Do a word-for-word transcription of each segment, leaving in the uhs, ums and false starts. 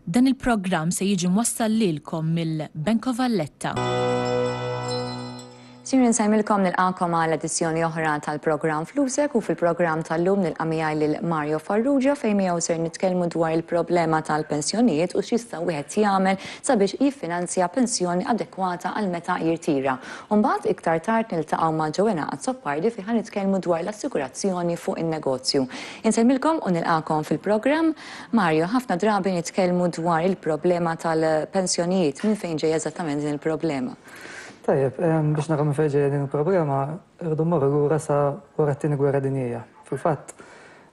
Dan il-programm se jiġi mwassal lilkom mill-Bank of Valletta. Sinjuri, nsellmilkom, nilqagħkom għal edizzjoni oħra tal-programm Flusek u fil-programm tal-lum nilqa' miegħi lil Mario Farrugia, fejn miegħu ser nitkellmu dwar il-problema tal-pensjonijiet u x'jista' wieħed jagħmel sabiex jiffinanzja pensjoni adekwata għal meta jirtira. Mbagħad iktar tard niltaqgħu ma' Joanna Azzopardi, fejn ħa nitkellmu dwar l-assigurazzjoni fuq in-negozju. Insellmilkom u nilqagħkom fil-programm. Mario, ħafna drabi nitkellmu dwar il-problema tal-pensjonijiet. Minn fejn ġej eżattament din il-problema? Tajjeb, biex naraw minn fejn ġejja din il-problema, rridu mmorru lura sa wara t-Tieni Gwerra Dinjija. Fil-fatt,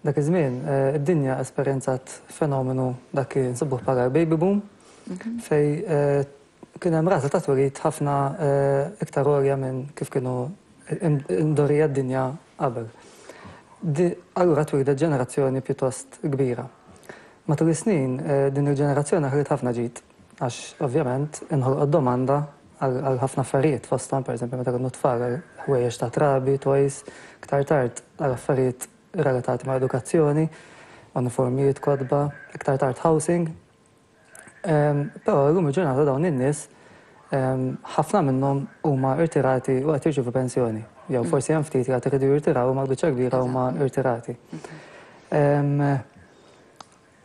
dak iż-żmien eh, id-dinja esperjenzat fenomenu dak li nsibuh bħala baby boom, mhm. fejn eh, kien hemm rata ta' twelid ħafna eh, iktar għolja minn kif kienu imdorrija d-dinja qabel. Allura twildet ġenerazzjoni pjuttost kbira. Matul is-snin din il-ġenerazzjoni ħalliet ħafna ġid, għax ovvjament inħolqot domanda għal ħafna affarijiet, fosthom, pereżempju, meta kienu tfal, ħwejjeġ ta' trabi, toys, iktar tard għal affarijiet relatati ma' edukazzjoni, uniformijiet, kotba, iktar tard housing. Però llum il-ġurnata dawn in-nies ħafna minnhom huma irtirati u qed jirċievu pensjoni. Jew forsi hemm ftit li qed iridu jirtiraw, ma biċċa kbira huma irtirati.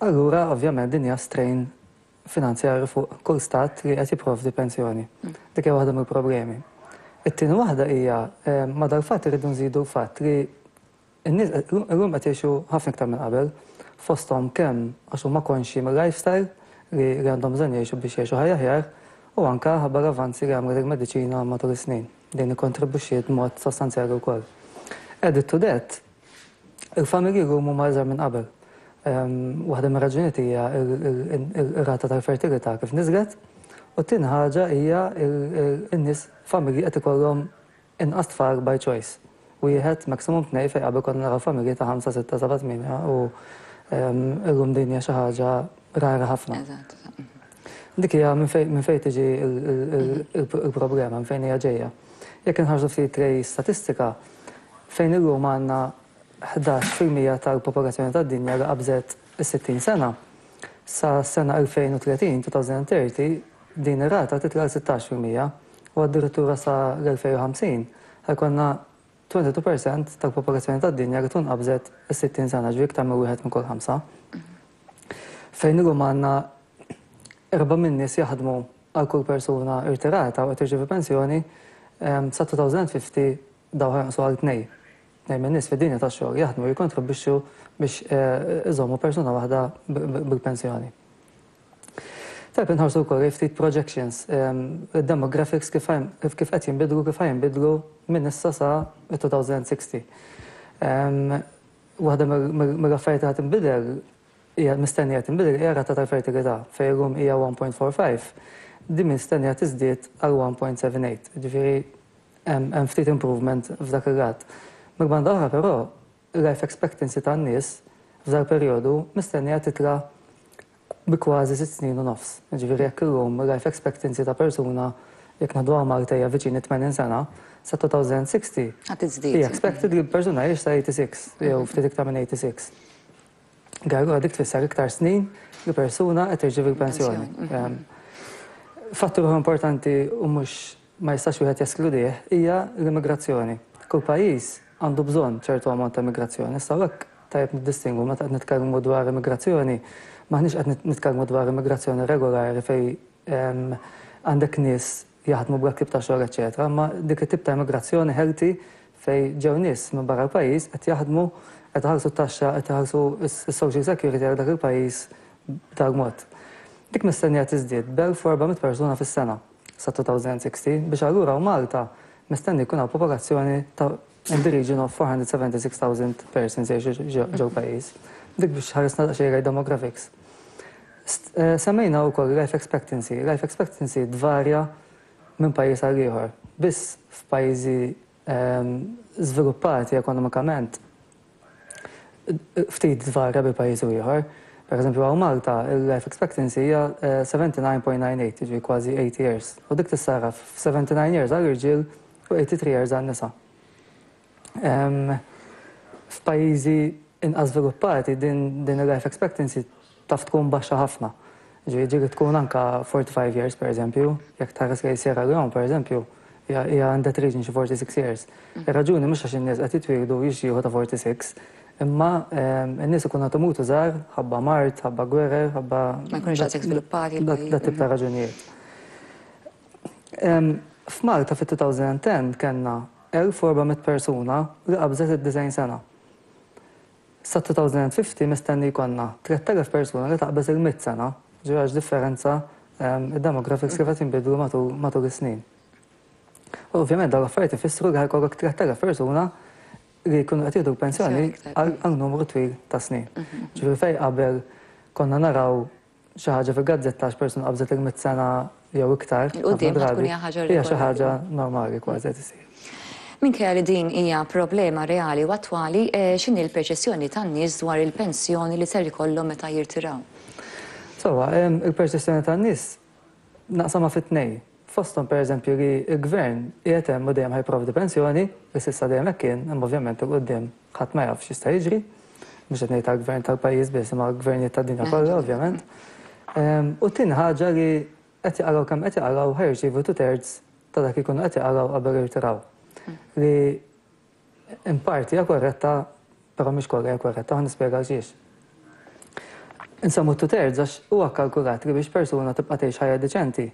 Allura ovvjament din hija strain finanzjarju fuq kull stat li qed jipprovdi pensjoni. Dik hija waħda mill-problemi. It-tieni waħda hija, ma' dal-fatt irridu nżidu l-fatt li n-nies illum qed jgħixu ħafna iktar minn qabel, fosthom kemm għax huma konxji mill-lifestyle li għandhom bżonn jgħixu biex jgħixu ħajja aħjar u anke ħabba l-avanzi li għamlet il-mediċina matul is-snin. Din ikkontribwixxiet b'mod sostanzjali wkoll. Added to that, il-familji llum huma iżgħar minn qabel. Waħda mir-raġunijiet hija il-rata tal-fertilità kif niżlet u t-tieni ħaġa hija n-nies, familji qed ikollhom inqas tfal by choice. Wieħed, maximum tnejn, fejn qabel konna naraw familji ta' ħamsa, sitta, seba', tmienja u illum din hija xi ħaġa rara ħafna. Dik hija minn fejn tiġi il-problema, minn fejn hija ġejja. Jekk inħarsu ftit lejn statistika, fejn illum għandna ħdax fil-mija tal-popolazzjoni tad-dinja li qabżet is-sittin sena, sa sena elfejn u tletin, elfejn u tletin, din ir-rata titla' sittax fil-mija u addirittura sa l-elfejn u ħamsin ħa jkollna tnejn u għoxrin fil-mija tal-popolazzjoni tad-dinja li tkun qabżet is-sittin sena, ġifieri iktar minn wieħed minn kull ħamsa. Fejn illum għandna erba' min-nies jaħdmu għal kull persuna irtirata u qed tirċievi pensjoni, sa elfejn u ħamsin dawn ħa jonqsu għal tnejn. Tnejn min-nies fid-dinja tax-xogħol jaħdmu, jikkontribwixxu biex iżommu persuna waħda bil-pensjoni. Tajjeb inħarsu wkoll ftit projections, demographics, kif kif qed jinbidlu, kif jinbidlu minn issa sa elfejn u sittin. Waħda mill-affarijiet qed tinbidel, hija mistennija tinbidel, hija rata tal-fertilità, fejn illum hija wieħed punt erbgħa ħamsa, din mistennija tiżdied għal wieħed punt seba' tmien, ġifieri hemm ftit improvement f'dak il-lat. Mill-banda oħra però, life expectancy tan-nies f'dal perjodu mistennija titla' bi kważi sitt snin u nofs. Ġifieri jekk illum life expectancy ta' persuna, jekk nieħdu Malta, hija viċin tmenin sena, sa elfejn u sittin Ħa tiżdied. hija expected li persuna jgħix sa tmienja u sittin jew ftit iktar minn tmienja u sittin. Allura dik tfisser iktar snin li persuna qed tirċievi l-pensjoni. Mhm. Fattur importanti u mhux ma jistax wieħed jeskludih hija l-immigrazzjoni. Kull pajjiż għandu bżonn ċertu ammont ta' immigrazzjoni. Issa hekk tajjeb niddistingwu, meta qed nitkellmu dwar immigrazzjoni, maħniex qed nitkellmu dwar immigrazzjoni regolari fejn għandek nies jaħdmu bla tip ta' xogħol, eċetera, ma dik it-tip ta' immigrazzjoni healthy fejn ġew nies minn barra l-pajjiż, qed jaħdmu, qed iħallsu t-taxxa, qed iħallsu s-social security għal dak il-pajjiż b'dak mod. Dik mistennija tiżdied b'elf u erba' mitt persuna fis-sena sa elfejn u sittin, biex allura u Malta mistenni jkun hawn popolazzjoni ta' in the region of four hundred seventy-six thousand persons jgħixu ġew pajjiż. Dik biex ħaresna daqsxejn demographics. Eh, semmejna wkoll life expectancy. Life expectancy tvarja minn pajjiż għal ieħor. Biss f'pajjiżi ehm, żviluppati ekonomikament ftit tvarja bi pajjiż u ieħor. Per eżempju, hawn Malta, il-life expectancy hija sebgħa u sebgħin punt tmenja tlieta, ġifieri kważi tmenin years. U dik tissarraf f' seventy-nine years għall-irġiel u tmienja u tmenin years għan-nisa. F'pajjiżi inqas żviluppati din din il-life expectancy taf tkun baxxa ħafna. Ġifieri tkun anka forty-five years, per eżempju, jekk tħares lejn Sierra Leone, per eżempju, hija in that region xi forty-six years. Ir-raġuni mhux għax in-nies qed jitwieldu jixjieħu ta' forty-six, imma n-nies ikunu qed imutu żgħar, ħabba mard, ħabba gwerer, ħabba Ma jkunux daqshekk żviluppati. Dat tip ta' raġunijiet. F'Malta fit-elfejn u għaxra kellna elf u erba' mitt persuna li qabżet id-disgħin sena. Sa elfejn u ħamsin mistenni jkollna tlett elef persuna li taqbeż il-mitt sena, ġifieri differenza id-demographics kif qed jinbidlu matul is-snin. U ovvjament dawn l-affarijiet ifissru li ħa jkollok tlett elef persuna li jkunu qed jieħdu pensjoni għal numru twil ta' snin. Ġifieri fejn qabel konna naraw xi ħaġa fil-gazzetta għax persuna qabżet il-mitt sena jew iktar. Il-quddiem tkun hija ħaġa Hija xi ħaġa normali kważi qed isir. Minkejja li din hija problema reali u attwali, x'inhi l-perċezzjoni tan-nies dwar il-pensjoni li ser ikollhom meta jirtiraw? Sewwa, il-perċezzjoni tan-nies naqsamha fi tnejn. Fosthom, per eżempju, li l-gvern qiegħed hemm u dejjem ħa jipprovdi pensjoni, li s'issa dejjem hekk kien, imma ovvjament 'il quddiem ħadd ma jaf x'jista' jiġri. Mhux qed ngħid tal-gvern tal-pajjiż biss, imma l-gvernijiet tad-dinja kollha, ovvjament. U tieni ħaġa li qed jaqalgħu kemm qed jaqalgħu, ħa jirċievu two thirds ta' dak ikunu qed jaqalgħu qabel jirtiraw. Li in parti hija korretta, però mhix kollha hija korretta, ħa nispjega għalxiex. Insemmu two thirds għax huwa kalkulat li biex persuna tibqa' tgħix ħajja deċenti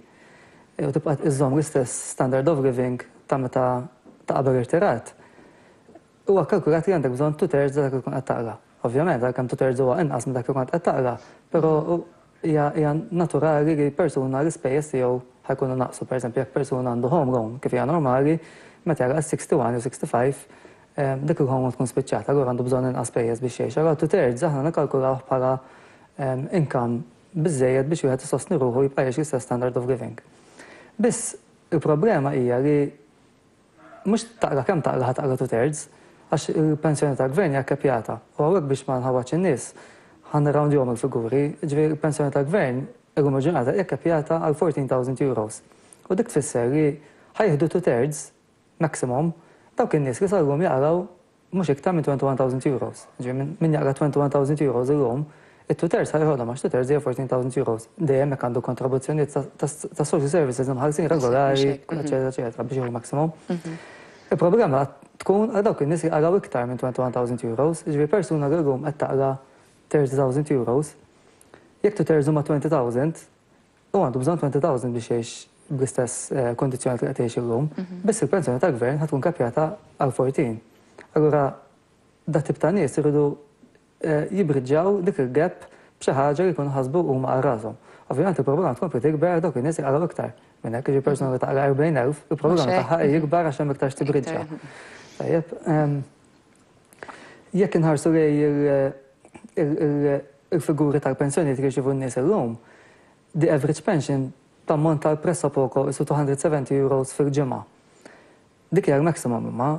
u tibqa' iżżomm l-istess standard of living ta' meta ta' qabel irtirat, huwa kalkulat li għandek bżonn two thirds dak li tkun qed taqla'. Ovvjament, għalkemm two thirds huwa inqas minn dak li kont qed taqla', però hija naturali li persuna l-ispejjeż tiegħu ħa jkunu naqsu. Per eżempju, jekk persuna għandu home loan, kif hija normali, meta jagħlaq sixty-one jew sixty-five, dik il-home loan tkun spiċċata, allura għandu bżonn inqas spejjeż biex jgħix. Allura two thirds aħna nikkalkulaw bħala income biżejjed biex wieħed isostni ruħu, jibqa' jgħix l-istess standard of living. Biss il-problema hija li mhux taqla' kemm taqla' ħa taqla' two thirds, għax il-pensjoni tal-gvern hija kkapjata. U hawnhekk, biex ma nħawwadx in-nies, ħa nirroundjahom il-figuri, ġifieri il-pensjoni tal-gvern illum il-ġurnata hija kkapjata għal fourteen thousand euros. U dik tfisser li ħa jieħdu two thirds maximum dawk in-nies li sal-lum jaqilgħu mhux iktar minn twenty-one thousand euros. Ġifieri min jaqla' twenty-one thousand euros illum, it-two thirds ħa jeħodhom għax two thirds hija fourteen thousand euros. Dejjem hekk għandu kontribuzzjonijiet ta' social services imħallsin regolari, eċetera, eċetera, biex jieħu maximum. Il-problema tkun għal dawk in-nies li jaqilgħu iktar minn twenty-one thousand euros, ġifieri persuna li llum qed taqla' thirty thousand euros, jekk two thirds huma twenty thousand, u għandu bżonn twenty thousand biex jgħix bl-istess kondizzjoni li qed jgħix illum, biss il-pensjoni tal-gvern ħa tkun kapjata għal fourteen. Allura dat tip ta' nies iridu jibbriġġjaw dik il-gap b'xi ħaġa li jkunu ħasbu huma għal rashom. Ovvjament il-problema tkompli tikber dawk in-nies jaqilgħu iktar. Minn hekk, ġi persuna li taqla' erbgħin elf, il-problema tagħha jikbar għax hemm iktar x'tibriġġa. Tajjeb, jekk inħarsu lejn il-figuri tal-pensjoni li jirċievu n-nies illum, the average pension tammonta pressappoco isu two hundred seventy euros fil-ġimgħa. Dik hija l-maximum, imma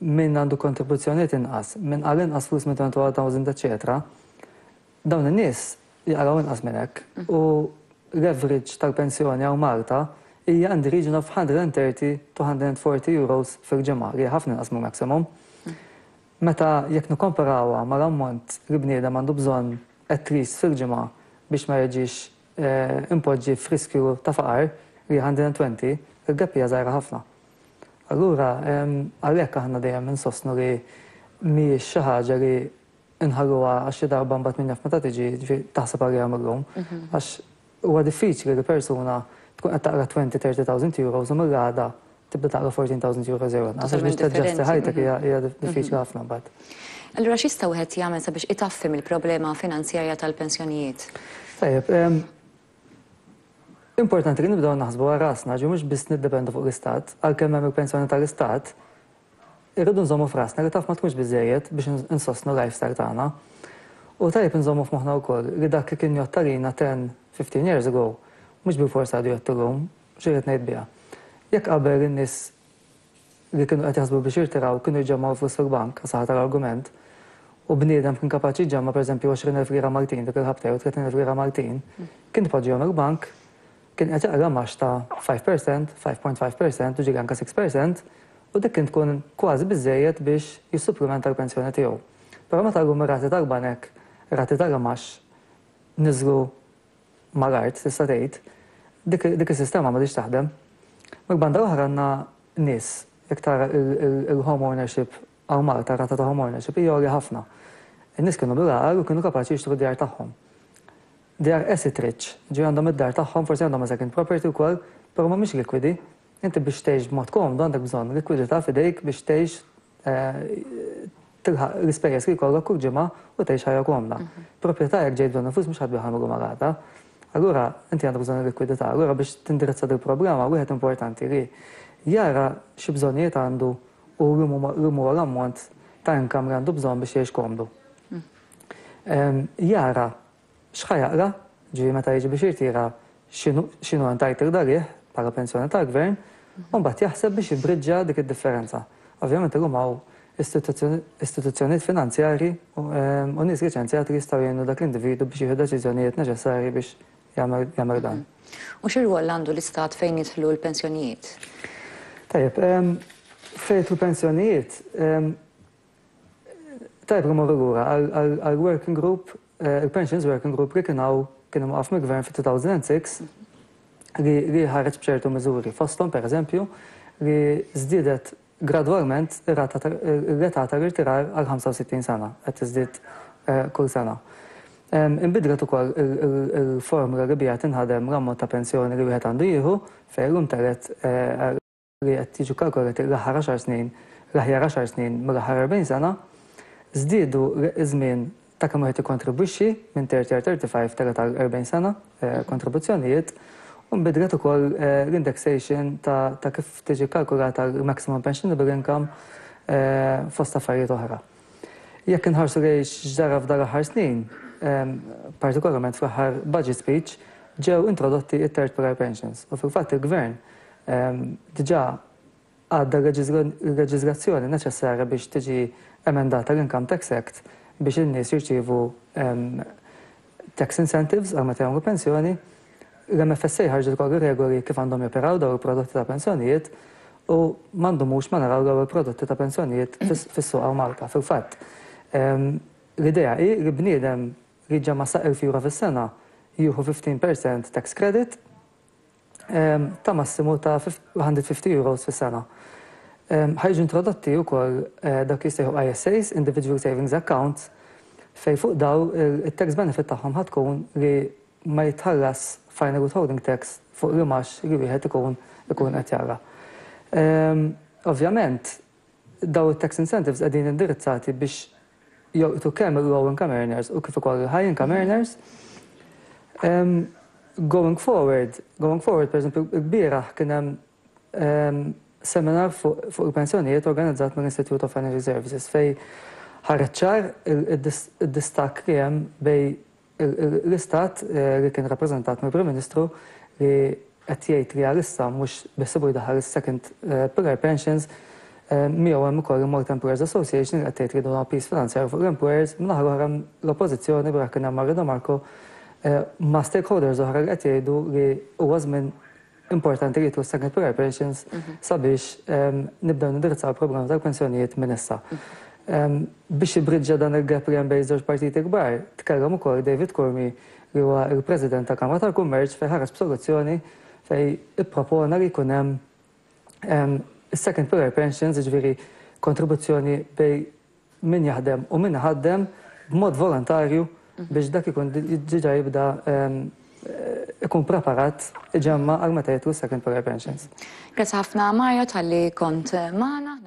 min għandu kontribuzzjonijiet inqas, min qala' inqas flus minn twenty-one thousand, eċetera, dawn in-nies jaqilgħu inqas minn hekk. U l-average tal-pensjoni hawn Malta hija in the region of one hundred thirty to one hundred forty euros fil-ġimgħa, li ħafna inqas mill maximum. Meta jekk nikkomparawha mal-ammont li bniedem għandu bżonn at least fil-ġimgħa biex ma jiġix impoġġi f'riskju ta' faqar, li one hundred twenty, il-gap hija żgħira ħafna. Allura, għalhekk aħna dejjem insostnu li mhijiex xi ħaġa li nħalluha għax xi darba mbagħad min jaf meta tiġi, ġifieri taħseb għaliha millum. Għax huwa diffiċli li persuna tkun qed taqla' twenty thirty thousand euros u mill-għada tibda taqla' fourteen thousand euros jew inqas. Għax biex taġġasti ħajtek hija hija diffiċli ħafna mbagħad. Allura x'jista' wieħed jagħmel sabiex itaffi mill-problema finanzjarja tal-pensjonijiet? Tajjeb, importanti li nibdew naħsbu għal rasna, ġi mhux biss niddependu fuq l-istat, għalkemm hemm il-pensjoni tal-istat, irridu nżommu f'rasna li taf ma tkunx biżejjed biex insostnu lifestyle tagħna. U tajjeb nżommu f'moħħna wkoll li dak li kien jgħodd għalina ten fifteen years ago, mhux bil-forsa għadu jgħodd illum. X'irrid ngħid biha? Jekk qabel in-nies li kienu qed jaħsbu biex jirtiraw kienu jġemmgħu flus fil-bank, saħat tal-argument, u bniedem kien kapaċi jġemma', pereżempju, għoxrin elf lira Maltin dik il-ħabta jew tletin elf lira Maltin, kien tpoġġihom il-bank, kien qed jaqla' imgħax ta' five percent, five point five percent u ġieli anke six percent, u dik kien tkun kważi biżejjed biex jissupplementa l-pensjoni tiegħu. Però meta llum ir-rati tal-banek, rati tal-imgħax niżlu mal-art, tista' tgħid, dik is-sistema m'għadhiex taħdem. Mill-banda oħra għandna nies, jekk tara il-home ownership hawn Malta, rata ta' home ownership hija għolja ħafna. In-nies kienu bil-għaqal u kienu kapaċi jixtru djar tagħhom. They are asset rich, ġi għandhom id-dar tagħhom, forsi għandhom a second property wkoll, però mhumiex likwidi. Inti biex tgħix b'mod komdu għandek bżonn likwidità f'idejk biex tgħix, eh, tilħaq l-ispejjeż li jkollok kull ġimgħa u tgħix ħajja komda. Proprjetà, jekk ġejt bżonn flus, mhux ħa tbigħha mil-lum għal għada. Allura inti għandek bżonn likwidità. Allura biex tindirizza dil problema wieħed importanti li jara xi bżonnijiet għandu u li huwa l-ammont ta' income li għandu bżonn biex jgħix komdu. Jara x'ħa jaqla', ġifieri meta jiġi biex jirtira, x'inhu entitled għalih bħala pensjoni tal-gvern, u mbagħad jaħseb biex jibriġġa dik id-differenza. Ovvjament illum hawn istituzzjonijiet finanzjari u nies liċenzjati li jistgħu jgħinu dak l-individu biex jieħu deċiżjonijiet neċessarji biex jagħmel dan. U xi rwol għandu l-istat fejn jidħlu l-pensjonijiet? Tajjeb, fejn jidħlu pensjonijiet, tajjeb li morru lura għal-working group, eh, il-Pensions Working Group li kien hawn, kien imwaqqaf mill-gvern fit-elfejn u sitta li ħareġ b'ċertu miżuri. Fosthom, per eżempju, li żdiedet gradwalment l-età tal-irtirar għal ħamsa u sittin sena, qed tiżdied eh, kull sena. Inbidlet ukoll il-formula li biha tinħadem l-ammont ta' pensjoni li wieħed għandu jieħu, fejn illum telgħet eh, li qed jiġu kalkulati l-aħħar għaxar snin, l-aħjar għaxar snin mill-aħħar erbgħin sena. Żdiedu iż-żmien ta' kemm wieħed ikkontribwixxi minn thirty għal thirty-five, telgħet għal erbgħin sena eh, kontribuzzjonijiet, u nbidlet ukoll eh, l-indexation ta' kif tiġi kalkulata l-maximum pensionable income, fost affarijiet oħra. Jekk inħarsu lejn x'ġara f'dan l-aħħar snin, partikolarment fl-aħħar budget speech, ġew introdotti it-third pillar pensions. U fil-fatt il-gvern diġà għadda l-leġiżlazzjoni neċessarja biex tiġi emendata l-Income Tax Act biex in-nies jirċievu tax incentives għal meta jagħmlu pensjoni. L-M F S A ħarġet ukoll regoli kif għandhom joperaw daw il-prodotti ta' pensjonijiet u m'għandhomux ma naraw daw il-prodotti ta' pensjonijiet fis-suq hawn Malta. Fil-fatt, l-idea hi li bniedem li jġemma' sa elf euro fis-sena jieħu fifteen percent tax credit ta' massimu ta' mija u ħamsin euros fis-sena. Ħa jiġu introdotti wkoll eh, dak li jissejħu I S As, Individual Savings Accounts, fej fuq daw il-tax benefit tagħhom ħa tkun li ma jitħallas final withholding tax fuq l-imgħax li wieħed ikun ikun qed jara. Ovvjament, daw it-tax incentives qegħdin indirizzati biex jolqtu kemm il-low income earners u kif ukoll il-high income earners. Um, going forward, going forward, per eżempju, il-bieraħ kien hemm um, seminar fuq fu il-pensjonijiet organizzat mill-Institute of Financial Services fej ħareġ ċar il-distakk li hemm bejn l-istat, eh, li kien rappreżentat mill-Prim Ministru, li qed jgħid li għalissa mhux beħsiebu jdaħħal is-second eh, pillar pensions. eh, Miegħu hemm ukoll il-Malta Employers Association li qed tgħid li dawn piż finanzjarju fuq l-employers, min-naħa l-oħra l-oppożizzjoni, bra kien hemm Mario Marco ma' stakeholders oħra, li qed jgħidu li huwa żmien importanti li jidħlu second pillar pensions sabiex nibdew nindirizzaw il-problema tal-pensjonijiet minn issa. Biex jibriġġa dan il-gap li hemm bejn żewġ partiti kbar, tkellem ukoll David Curmi, li huwa il-President ta' Kamra tal-Kummerċ, fejn ħareġ b'soluzzjoni fejn ippropona li jkun hemm second pillar pensions, jiġifieri kontribuzzjoni bejn min jaħdem u min ħaddem b'mod volontarju, biex dak ikun diġà jibda ikun preparat iġemma għal meta jidħlu second pillar pensions. Grazzi ħafna, Mario, talli kont magħna.